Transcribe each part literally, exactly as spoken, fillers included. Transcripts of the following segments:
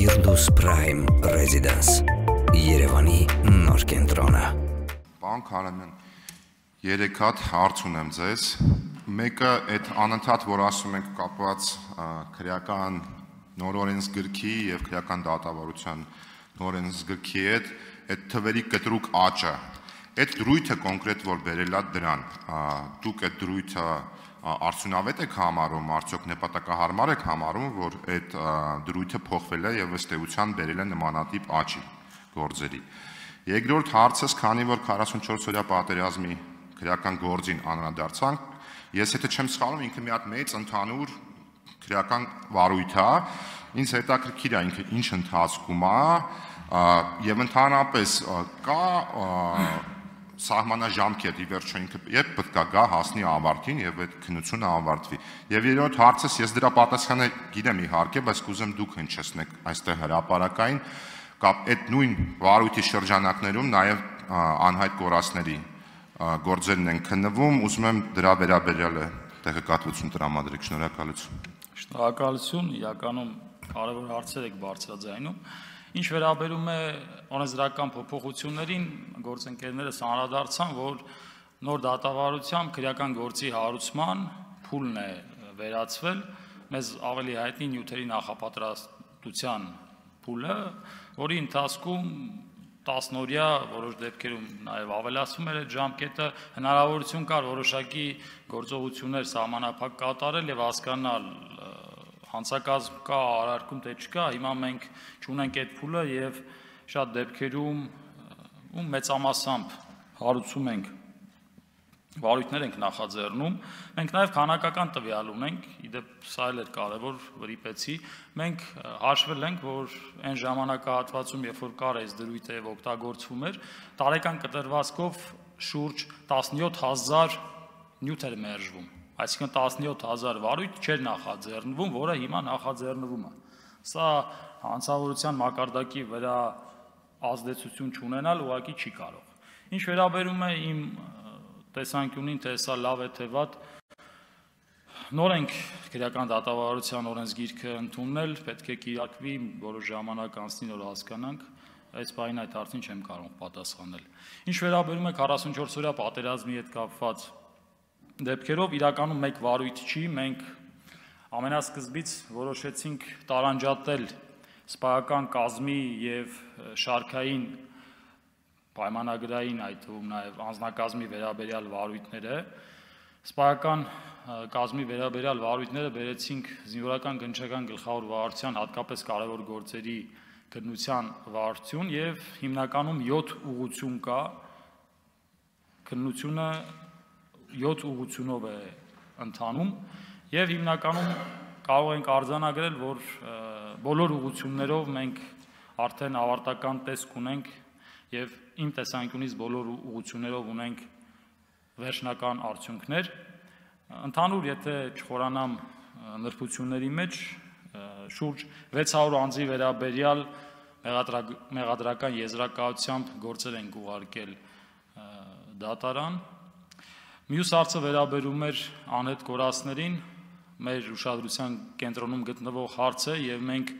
Firdaus Prime Residence Երևանի նոր կենտրոնը։ Պարոն Քարամյան, երեք հատ հարց ունեմ ձեզ։ Մեկը այդ անընդհատ, որ ասում ենք կապված քրեական նոր օրենսգրքի եւ քրեական դատավարության նոր օրենսգրքի հետ, այդ թվերի կտրուկ աճը։ Այդ դրույթը կոնկրետ որ բերել է դրան, դուք այդ դրույթը արդյունավետ եք համարում, արդյոք նպատակահարմար եք համարում, որ այդ դրույթը փոխվել է եւ ըստ էության բերել է նմանատիպ աճի գործերի։ Երկրորդ հարցս, քանի որ քառասունչորս օրյա պատերազմի քրեական գործին անդրադարձանք, ես եթե չեմ սխալվում, ինքը մի հատ մեծ ընդհանուր քրեական վարույթ է, ինձ հետաքրքիր է ինքը ինչ ընթացքում է եւ ընդհանրապես կա սահմանաժամկետ, ի վերջո ինքը երբ պետք է գա հասնի ավարտին եւ այդ քննությունը ավարտվի։ Եվ երրորդ հարցս, ես դրա պատասխանը գիտեմ իհարկե, բայց կուզեմ դուք հնչեցնեք այստեղ հրապարակային, կապ այդ նույն վարույթի շրջանակներում նաեւ անհայտ կորածների գործերն են քննվում, ուզում եմ դրա վերաբերյալ տեղեկատվություն տրամադրեք, շնորհակալություն։ Շնորհակալություն, իրականում կարևոր հարցեր եք բարձրաձայնում։ Ինչ վերաբերում է օրենսդրական փոփոխություններին, գործընկերներս անդրադարձան, որ նոր դատավարությամբ քրեական գործի հարուցման փուլն է վերացվել, մեզ ավելի հայտնի նյութերի նախապատրաստության փուլը, որի ընթացքում տասնօրյա, որոշ դեպքերում նաև ավելացվում էր այդ ժամկետը, հնարավորություն կար որոշակի գործողություններ սահմանափակ կատարել եւ հասկանալ հանցակազմ կա, արարքում թե չկա, հիմա մենք չունենք այդ փուլը եւ շատ դեպքերում ու մեծամասամբ հարուցում ենք, վարույթներ ենք նախաձեռնում, մենք նաեւ քանակական տվյալ ունենք, իդեպ սա էլ էր կարևոր վրիպեցի, մենք հաշվել ենք, որ այն ժամանակահատվածում, երբ որ կար այս դրույթը եւ օգտագործվում էր, տարեկան կտրվածքով շուրջ տասնյոթ հազար նյութ էր մերժվում, այսինքն տասնյոթ հազար վարույթ չէր նախաձեռնվում, որը հիմա նախաձեռնվում է։ Սա հանցավորության մակարդակի վրա ազդեցություն չունենալ ուղղակի չի կարող։ Ինչ վերաբերում է իմ տեսանկյունին, թե սա լավ է թե վատ, նոր ենք քրեական դատավարության օրենսգիրքը ընդունել, պետք է կիրակվի, որոշ ժամանակ անցնի, որ հասկանանք, այս բանին այդ հարցին չեմ կարող պատասխանել։ Ինչ վերաբերում է քառասունչորս օրյա պատերազմի հետ կապված դեպքերով, իրականում մեկ վարույթ չի, մենք ամենասկզբից որոշեցինք տարանջատել սպայական կազմի եւ շարքային պայմանագրային, այդ թվում նաև անձնակազմի վերաբերյալ վարույթները, սպայական կազմի վերաբերյալ վարույթները բերեցինք զինվորական գնչական գլխավոր վարչության հատկապես կարևոր գործերի քննության վարչություն եւ հիմնականում յոթ ուղղություն կա, քննությունը յոթ ուղղությունով է ընթանում եւ հիմնականում կարող ենք արձանագրել, որ բոլոր ուղղություններով մենք արդեն ավարտական տեսք ունենք եւ իմ տեսանկյունից բոլոր ուղղություններով ունենք վերջնական արդյունքներ։ Ընդհանուր, եթե չխորանամ նրբությունների մեջ, շուրջ վեց հարյուր անձի վերաբերյալ մեղադրական եզրակացությամբ գործեր ենք ուղարկել դատարան։ Մյուս հարցը վերաբերում էր անհետ կորածներին, մեր ուշադրության կենտրոնում գտնվող հարց է եւ մենք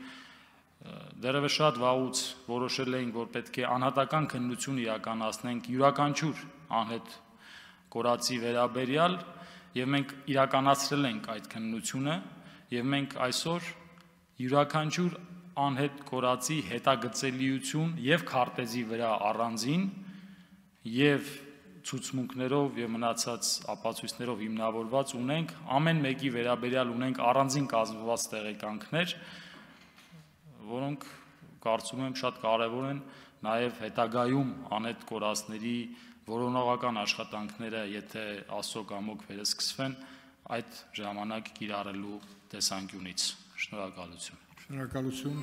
դեռևս շատ վաղուց որոշել էինք, որ պետք է անհատական քննություն իրականացնենք յուրաքանչյուր անհետ կորածի վերաբերյալ եւ մենք իրականացրել ենք այդ քննությունը եւ մենք այսօր յուրաքանչյուր անհետ կորածի հետագծելիություն եւ քարտեզի վրա առանձին եւ ցուցմունքներով եւ մնացած ապացույցներով հիմնավորված ունենք, ամեն մեկի վերաբերյալ ունենք առանձին կազմված տեղեկանքներ, որոնք կարծում եմ շատ կարևոր են նաեւ հետագայում անհետ կորածների որոնողական աշխատանքները, եթե Աստծո կամոք վերսկսվեն, այդ ժամանակ կիրառելու տեսանկյունից։ Շնորհակալություն։ Շնորհակալություն։